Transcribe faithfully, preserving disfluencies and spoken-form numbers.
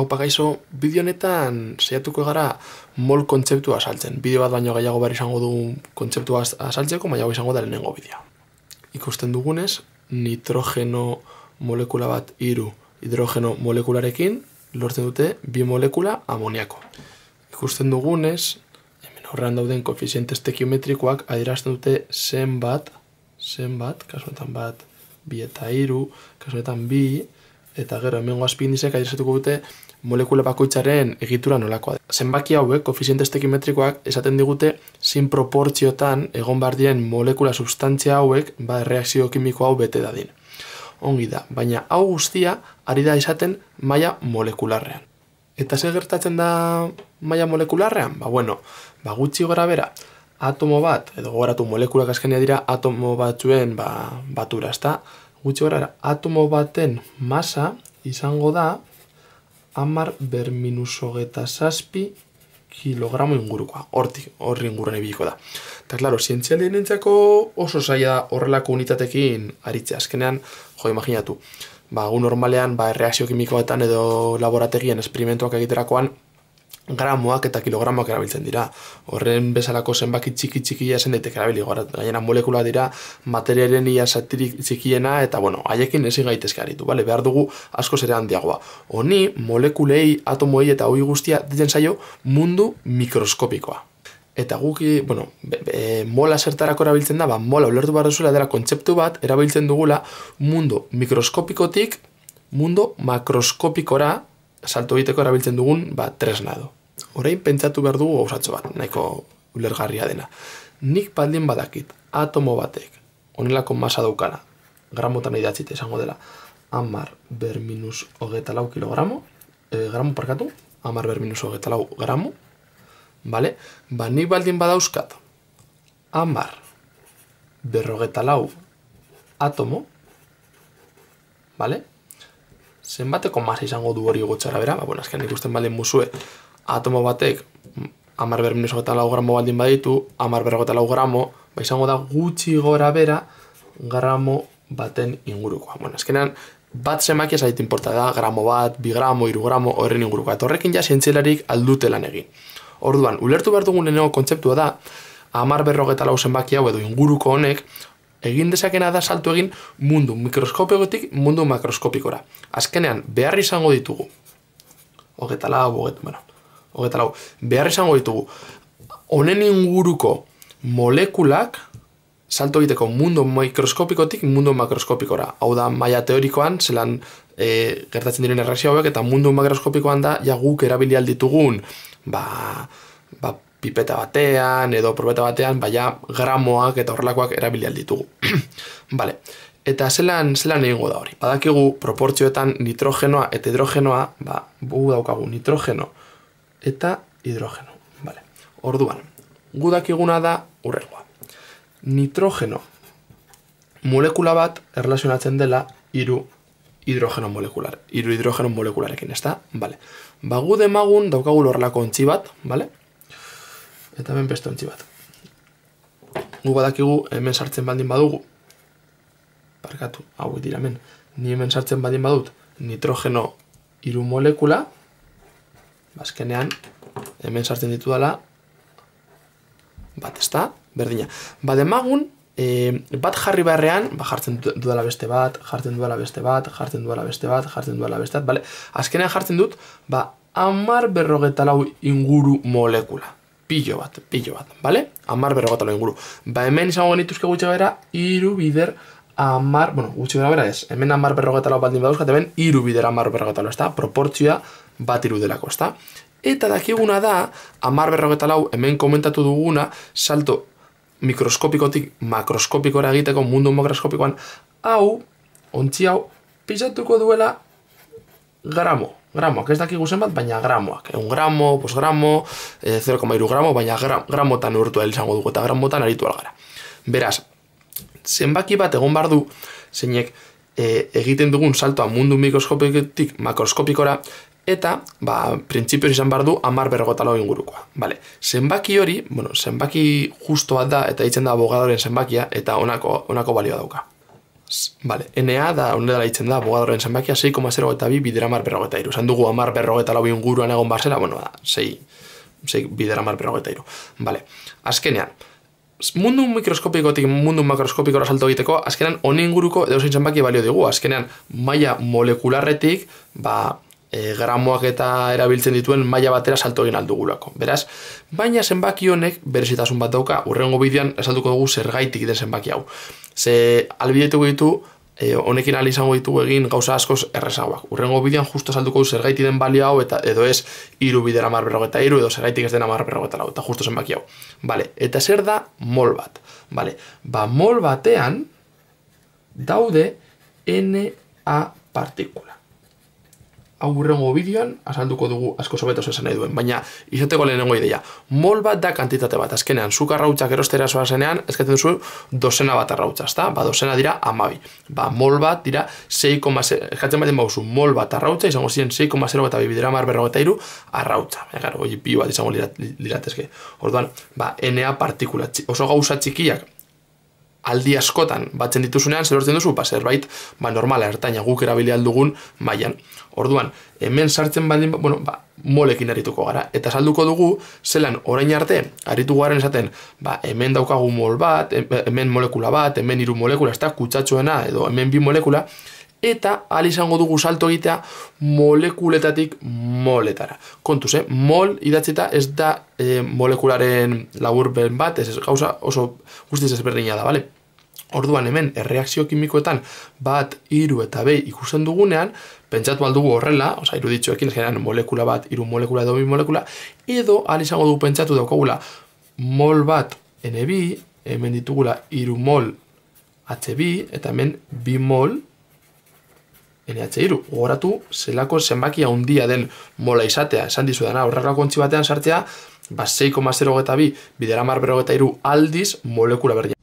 Haupa gaixo, bideo honetan saiatuko gara mol kontzeptua azaltzen. Bideo bat baino gehiago behar izango dugu kontzeptua azaltzeko, baina hau izango da lehenengo bideoa. Ikusten dugunez, nitrogeno molekula bat hiru hidrogeno molekularekin lortzen dute bi molekula amoniako. Ikusten dugunez, hemen aurrean dauden koefiziente estequiometrikoak adierazten dute zenbat, zenbat, kasuetan bat, bi eta hiru, kasuetan bi, eta gero hemengo azpindizek adieraztuko dute molekula bakoitzaren egitura nolakoa. Zenbaki hauek, koefiziente estequiometrikoak, esaten digute zein proportziotan egon behar diren molekula substantzia hauek ba erreakzio kimiko hau bete dadin. Ongi da, baina hau guztia ari da izaten maila molekularrean. Eta zer gertatzen da maila molekularrean? Ba bueno, ba gutxi gora bera, atomo bat, edo gogoratu molekulak azkenia dira atomo batzuen ba, batura, ezta? Gutxi gora bera, atomo baten masa izango da hamar ber minus hogeita zazpi kilogramo ingurukoa. Hortik, horri inguruan ibiliko da. Eta, klaro, zientzialien entzako oso zaila horrelako unitatekin aritzea. Azkenean, jo, imaginatu, ba, gu normalean, ba, erreakzio kimikoetan edo laborategian esperimentuak egiterakoan, gramoak eta kilogramoak erabiltzen dira. Horren bezalako zenbaki txiki txikia zen daiteke erabili. Gainera molekula dira materialen ia zatirik txikiena eta bueno, haiekin ezin gaitezke aritu, bale? Behar dugu askoz ere handiagoa. Honi, molekulei, atomoei eta hori guztia ditzen zaio mundu mikroskopikoa. Eta guk, bueno, be, be, mola zertarako erabiltzen da, ba, mola ulertu behar duzuela dela kontzeptu bat, erabiltzen dugula mundu mikroskopikotik mundu makroskopikora salto egiteko erabiltzen dugun ba, tresna edo. Orain pentsatu behar dugu gauzatxo bat, nahiko ulergarria dena. Nik baldin badakit atomo batek honelako masa daukana, gramotan idatzite esango dela, hamar ber minus hogeita lau kilogramo, eh, gramo parkatu, hamar ber minus hogeita lau gramo, vale? Ba nik baldin badauzkat hamar ber hogeita lau atomo, vale? Zenbateko masa izango du hori gotxara bera, ba, bueno, azken ikusten baldin muzue, atomo batek hamar ber minus hogeita lau gramo baldin baditu, hamar ber hogeita lau gramo, ba, izango da gutxi gora bera gramo baten ingurukoa. Bueno, azkenean, bat zenbaki ez ait inporta da, gramo bat, bi gramo, hiru gramo, horren ingurukoa. Eta horrekin ja zientzialarik aldute lan egin. Orduan, ulertu behar dugun lehenengo kontzeptua da, hamar ber hogeita lau zenbaki hau edo inguruko honek, egin dezakena da salto egin mundu mikroskopikotik mundu makroskopikora. Azkenean, behar izango ditugu, hogeita lau, hogeita, bueno, hogeita lau, behar izango ditugu, honen inguruko molekulak salto egiteko mundu mikroskopikotik mundu makroskopikora. Hau da, maila teorikoan, zelan e, gertatzen diren erreakzio hauek, eta mundu makroskopikoan da, ja guk erabili alditugun, ba, ba, pipeta batean edo probeta batean, baina gramoak eta horrelakoak erabili alditugu. Vale. Eta zelan, zelan egingo da hori. Badakigu proportzioetan nitrogenoa eta hidrogenoa, ba, gu daukagu nitrogeno eta hidrogeno. Vale. Orduan, gu dakiguna da urrengoa. Nitrogeno molekula bat erlazionatzen dela hiru hidrogeno molekular. Hiru hidrogeno molekularekin, ezta? Vale. Ba, gu demagun daukagu horrelako ontzi bat, vale? Eta hemen beste ontzi bat. Gu badakigu hemen sartzen baldin badugu, parkatu, hau dira hemen, ni hemen sartzen baldin badut nitrogeno hiru molekula, bazkenean hemen sartzen ditu dela bat, ezta? Berdina. Ba demagun, e, bat jarri beharrean, ba jartzen dudala beste bat, jartzen dudala beste bat, jartzen dudala beste bat, jartzen dudala beste bat, bale? Azkenean jartzen dut, ba hamar berrogeita lau inguru molekula. Pilo bat, pilo bat, bale? Hamar berrogeita lau inguru. Ba hemen izango genituzke gutxi bera, hiru bider hamar, bueno, gutxi bera ez, hemen hamar berrogeita lau baldin badauzkat, hemen hiru bider hamar berrogeita lau, ezta? Proportzioa bat irudelako, ezta? Eta dakiguna da, hamar berrogeita lau, hemen komentatu duguna, salto mikroskopikotik makroskopikora egiteko mundu makroskopikoan, hau, ontzi hau, pisatuko duela gramo. Gramoak, ez dakigu zenbat, baina gramoak. Un gramo, pos gramo, zero koma hiru gramo, baina gra, gramotan urtu izango dugu eta gramotan aritu algara. Beraz, zenbaki bat egon behar du, zeinek e, egiten dugun saltoa mundu mikroskopikotik makroskopikora, eta, ba, printzipioz izan behar du hamar berrogeita lau ingurukoa. Vale. Zenbaki hori, bueno, zenbaki justo bat da, eta ditzen da abogadoren zenbakia, eta honako, honako balioa dauka. Vale, N A da, honetara ditzen da, abogadoren zenbakia sei koma zero bi bidera hamar berrogeita hiru. Zan dugu hamar berrogeita lau inguruan egon barzela, bueno, da, sei, sei bidera hamar berrogeita hiru. Vale, azkenean, mundu mikroskopikotik mundu makroskopikora salto egiteko, azkenean honi inguruko edozein zenbaki balio digu. Azkenean, maila molekularretik, ba, e, gramoak eta erabiltzen dituen maila batera salto egin aldugulako. Beraz, baina zenbaki honek berezitasun bat dauka, urrengo bideoan esalduko dugu zergaitik den zenbaki hau. Ze albidetuko ditu, e, honekin ahal izango ditugu egin gauza askoz errezagoak. Urrengo bideoan justo esalduko du zergaitik den balio hau, eta edo ez hiru bidera hamar berrogeita hiru, edo zergaitik ez den hamar berrogeita lau, eta justo zenbaki hau. Vale, eta zer da mol bat? Vale, ba mol batean daude N A partikula. Hau urrengo bideoan azalduko dugu asko sobeto esan nahi duen, baina izateko lehenengo ideia. Mol bat da kantitate bat, azkenean, zuk arrautzak erostera zoa zenean, eskatzen duzu dozena bat arrautza, ezta? Ba, dozena dira hamabi. Ba, mol bat dira sei koma zero, eskatzen baten bauzu, mol bat arrautza, izango ziren sei koma zero eta bidera hamar berrogeita hiru arrautza. Baina, gara, hori pio bat izango liratezke. Orduan, ba, N A partikula, oso gauza txikiak, aldi askotan batzen dituzunean, zer hortzen duzu, ba, zerbait, ba, normala, ertaina, guk erabili aldugun mailan. Orduan, hemen sartzen baldin, bueno, ba, molekin arituko gara. Eta salduko dugu, zelan orain arte, aritu garen esaten, ba, hemen daukagu mol bat, hemen molekula bat, hemen hiru molekula, ez da, kutsatxoena, edo hemen bi molekula, eta ahal izango dugu salto egitea molekuletatik moletara. Kontuz, eh? Mol idatzita ez da eh, molekularen laburpen bat, ez gauza oso guztiz ezberdina da, bale? Orduan hemen erreakzio kimikoetan bat, hiru eta behi ikusten dugunean, pentsatu aldugu horrela, oza, iruditxoekin, generan molekula bat, hiru molekula edo bi molekula, edo ahal izango dugu pentsatu daukagula mol bat N bi, hemen ditugula hiru mol H bi, eta hemen bi mol N H hiru. Gogoratu, zelako zenbaki handia den mola izatea, esan dizu dana, horrelako ontzi batean sartzea, ba sei koma zero bi bidera hamar berrogeita hiru aldiz molekula berdina.